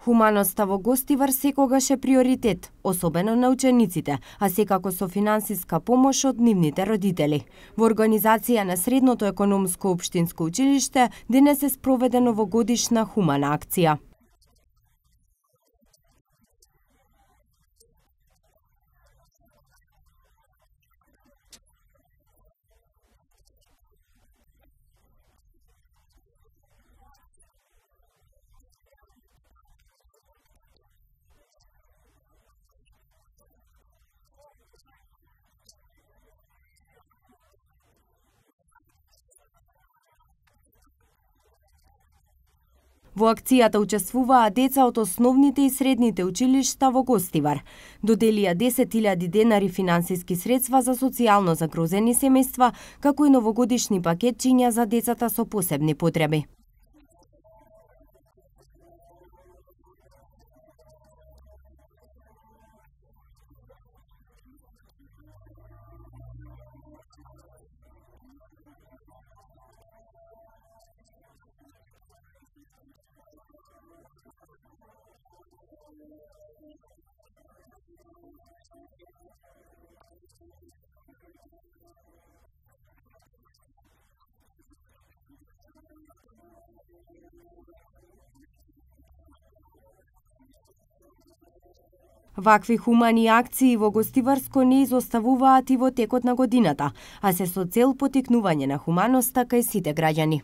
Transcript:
Хуманоста во Гостивар секогаш е приоритет, особено на учениците, а секако со финансиска помош од нивните родители. Во организација на Средното економско општинско училиште денес е спроведено новогодишна хумана акција. Во акцијата учествуваа деца од основните и средните училишта во Гостивар. Доделија 10.000 денари финансиски средства за социјално загрозени семејства, како и новогодишни пакетчиња за децата со посебни потреби. Вакви хумани акции во Гостиварско не изоставуваат и во текот на годината, а се со цел поттикнување на хуманоста кај сите граѓани.